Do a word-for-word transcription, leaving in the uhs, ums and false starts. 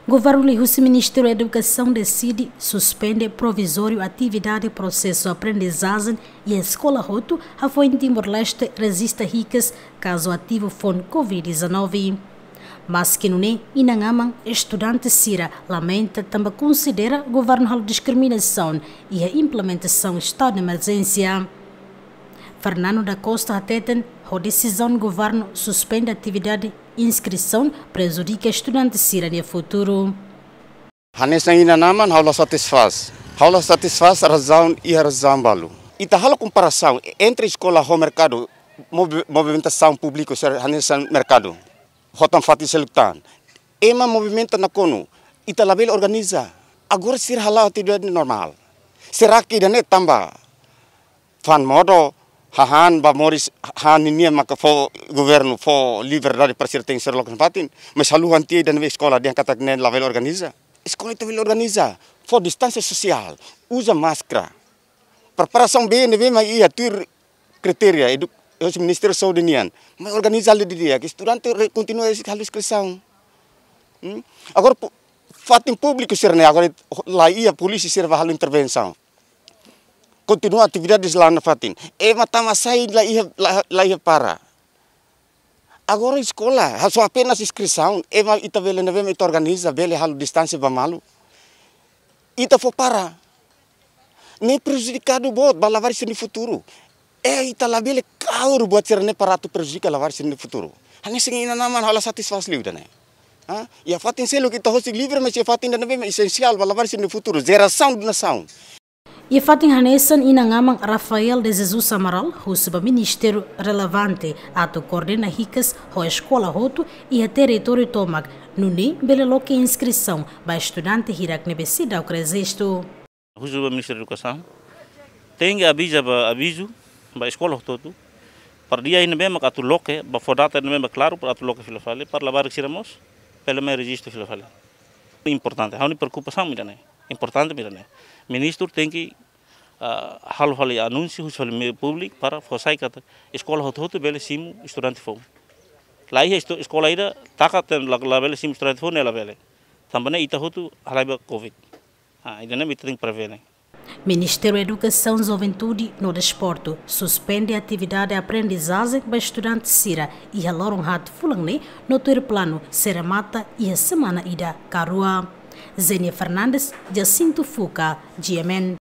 Governu liuhusi Ministériu Edukasaun deside suspende provizóriu atividade prosesu aprendizajen iha eskola hotu, hafoin Timor-Leste rejista hikas kazu ativu foun covid dezanove. Maski nune'e, inan-aman estudante sira lamenta tanba konsidera governu halo diskriminasaun iha implementasaun estadu de emerjénsia. Fernando da Costa hateten, ho desizaun governu suspende atividade inskrisaun prejudika estudante sira-nia futuru. Hanesan inan-aman, ha'u la satisfás. Ha'u la satisfás, razaun iha razaun balu. Ita halo komparasaun entre eskola ho merkadu, movi-, movimentasaun públiku sira hanesan merkadu. Ho tan fatin seluk tan. Ema movimenta nakonu, ita labele organiza. Agora sira hala'o atividade normál. Será que ida-ne'e tanba fa'an modo, hahán ba moris, hahán nian maka fó governu, fó liberdade para sira tenke sira loke nafatin, mas haluha tiha ida-ne'ebé eskola dehan katak ne'e labele organiza. Eskola ita bele organiza, fó distánsia sosiál, uza máskara. Preparasaun bee ne'ebé mak iha tuir kritéria edu-, husi Ministériu Saúde nian, mas organiza halo didi'ak, estudante re-, kontinua halo inskrisaun. Hmm? Agora pu-, fatin públiku sira-ne'e, agora la iha polísia sira bá halo intervensaun. Kontinua atividades la'o nafatin. Ema tama sai la iha, la, la iha para. Agora eskola, ha, só apenas inskrisaun, ema ita bele ne'ebé mak ita organiza, bele halo distánsia ba malu. Ita fó para. Ne'e prejudikadu boot ba labarik sira-nia futuru. Eh, ita labele kaur buat sira-ne'e para atu prejudika labarik sira-nia futuru. Hanesan inan-aman, ha'u la satisfás liu ida-ne'e. Ha? Iha fatin seluk ita husik livre, mas iha fatin ida-ne'ebé mak esensiál ba labarik sira-nia futuru, jerasaun nasaun. Iha fatin hanesan, inan-aman Rafael de Jesus Amaral husu ba ministériu relevante atu koordena hikas ho eskola hotu iha territóriu tomak, nune'e bele loke inskrisaun ba estudante hirak ne'ebé seidauk rejistu. Husu ba Ministériu Edukasaun, tenke aviza ba, avizu ba eskola hotu-hotu, para dia ne'ebé mak atu loke, ba fó data ne'ebé mak klaru, para atu loke fila fali, para labarik sira mós bele mai rejistu fila fali. Importante, ha'u-nia preokupasaun mak ida-ne'e. Importante mak ida-ne'e. Ministru tenke, ah, halo fali anúnsiu, husu fali meiu públiku para fó sai katak eskola hotu-hotu bele simu estudante foun. La iha estu-, eskola ida taka tan la, labele simu estudante foun, ne'e labele. Tanba ne'e ita hotu halai ba covid. Ah, ida-ne'e mak ita tenke prevene. Ministériu Edukasaun, Juventude no Desportu suspende atividade aprendizajen ba estudante sira iha loron haat fulan ne'e, no tuir planu sei remata iha semana ida ka rua. Zenia Fernandes, Jacinto Fuca, G M N.